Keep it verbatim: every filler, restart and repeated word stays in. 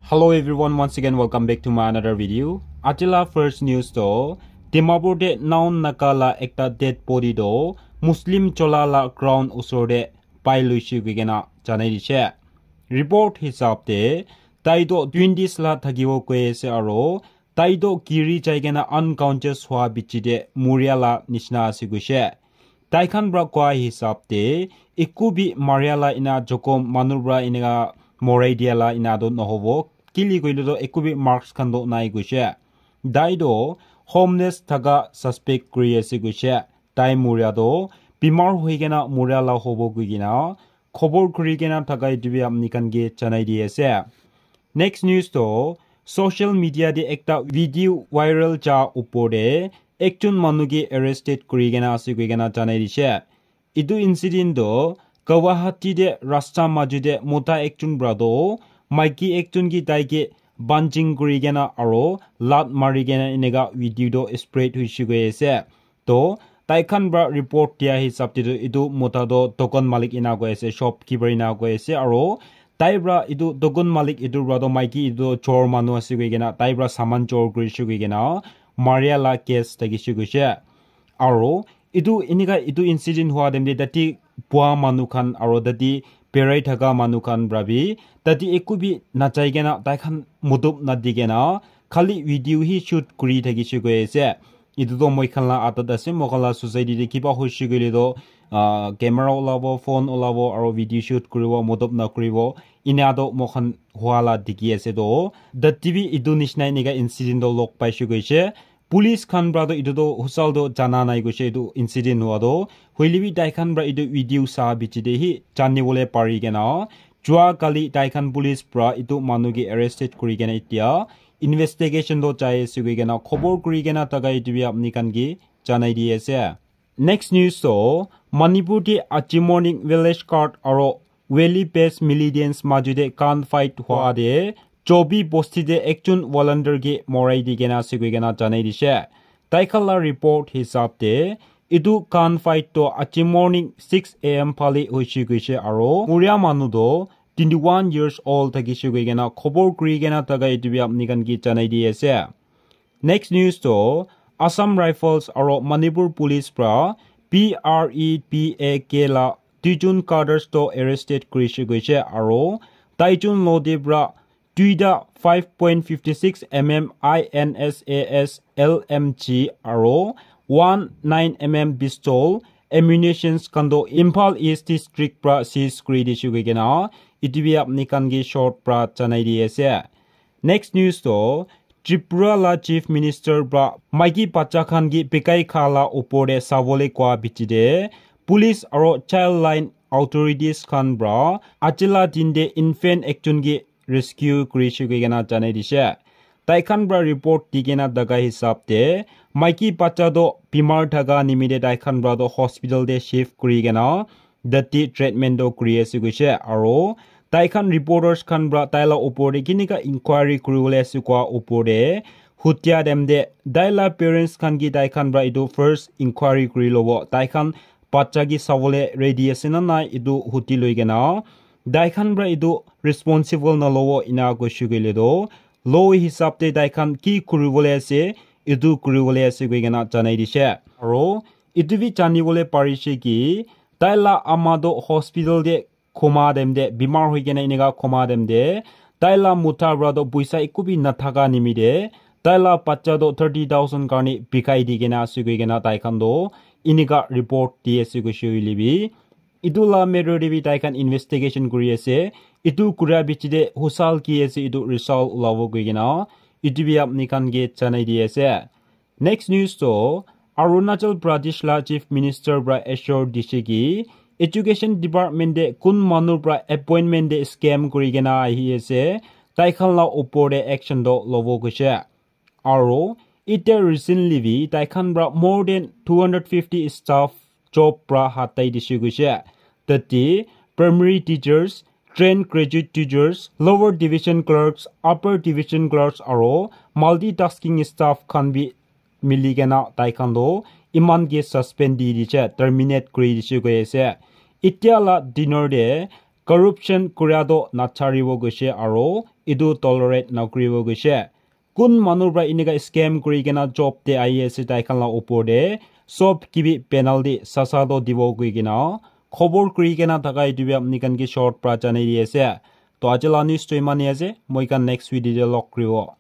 Hello everyone, once again welcome back to my another video. Ajila first news to Dimapur te Naon Naga la ekta dead body to Muslim chola la ground usor te pai luishi koi kena janai dishe. Report hisab te tai to twenties la thakibo koi ase aro tai to giri jai kena unconscious hua bichi te muria la nishina ase koishe. Tai khan pra koa hisab te eku bi maria la ena jokhom manu pra eneka morai dia la ena to nohobo. Kili koile to eku bi marks khan to nai koishe. Tai to homeless thaka suspect kuri ase koishe. Tai muria to bimar hoi kena muria la hobo koi kena khobor kuri kena thaka etu bi apni khan ke janai di ase. Next news to social media te ekta video viral ja upor te ekjon manu ke arrested kuri kena ase koi kena janai dishe. Etu incident to Guwahati te rasta maju te mota ekjon pra to maiki ekjon ke tai ke banching kuri kena aro lat mari kena eneka video to spread hoishe koi ase. To tai khan pra report dia hisab te tu etu mota to dukan malik ena koi ase, shopkeeper ena koi ase, aro tai pra etu dukan malik etu pra to maiki etu chor manu ase koi kena tai pra saman chor kurishe koi kena maria la case thakishe koishe. Aro etu eneka etu incident hua time te tate bua manu khan aro tate berai thaka manu khan pra bi tate eku bi nachai kena tai khan mutup nadi kena khali video hi shoot kuri thakishe koi ase. Etu to moi khan la adat ase, moi khan la society te kiba hoishe koile to ah, camera ulabo, phone ulabo aro video shoot kuribo, mutup na kuribo. Ena to moi khan hua la dikhi ase to. Tate bi etu nishina eneka incident to log paishe koishe. Police khan pra to etu to husal to jana nai koishe etu incident hua to. Hoile bi tai khan pra etu video sa bichi te hi jani bole pari kena. Jua kali tai khan police pra etu manu ke arrested kuri kena etia investigation to jai ase koi kena khobor kuri kena thaka etu bi apni khan ke janai di ase. Next news to Manipur te aji morning village guard aro valley based militants maju te gun fight hua te Chobi bosti te ekjon volunteer ke morai di kena ase koi kena janai dishe. Tai khan la report hisab te etu gun fight to aji morning six a m phale hoishe koishe aro muria manu to twenty one years old thakishe koi kena khobor kuri kena thaka etu bi apni khan ke janai di ase. Next news to Assam Rifles aro Manipur Police pra P R E P A K la duijon cadres to arrested kurishe koishe aro taijon lode pra duita five point fifty six M M I N S A S L M G aro one nine M M pistol ammunitions khan to Imphal East District pra seize kuri dishe koi kena etu bi apni khan ke short pra janai di ase. Next news to Tripura la Chief Minister pra maiki bacha khan ke bikai kha la upor te sabole koa bichi te police aro child line authorities khan pra ajila din te infant ekjon ke rescue kurishe koi kena janai dishe. Tai khan pra report di kena thaka hisab te maiki bacha to bimar thaka nimite tai khan pra to hospital te shift kuri kena tate treatment to kuri ase koishe aro tai khan reporters khan pra tai la upor te kineka inquiry kuri bole ase koa upor te hutia time te tai la parents khan ke tai khan pra etu first inquiry kuri lobo tai khan bacha ke sabole ready ase na nai etu huti loi kena tai khan pra etu responsible na lobo ena koishe koile to law hisab te tai khan ki kuri bole ase etu kuri bole ase koi kena janai dishe aro etu bi jani bole parishe ki tai la ama to hospital te khoma time te bimar hoi kena eneka khoma time te tai la mota pra to poisa eku bi nathaka nimite tai la bacha to thirty thousand karne bikai di kena ase koi kena tai khan to eneka report di ase koishe hoile bi etu la matter te bi tai khan investigation kuri ase. Etu kura bichi te husal ki ase etu result ulabo koi kena etu bi apni khan ke janai di ase. Next news to Arunachal Pradesh la Chief Minister pra assure dishe ki education department te kun manu pra appointment te scam kuri kena ahi ase tai khan la upor te action to lobo koishe. Aro ite recently bi tai khan pra more than two hundred fifty staff job pra hatai dishe koishe. Tate primary teachers, trained graduate teachers, lower division clerks, upper division clerks aro multitasking staff khan bi mili kena tai khan toh eman ke suspend di dishe, terminate kuri dishe koi ase. Itya la dinner te Corruption kuria toh nacharibo koishe aro etu tolerate nakuribo koishe. Kun manu pra enika scam kuri kena job te ahi ase tai khan la upor te, sob kibi penalty sasa toh dibo koi kena khobor kuri kena thaka etu bi apni khan ke short pra janai di ase. To aji la news toh imane ase, moi khan next video te log kuribo.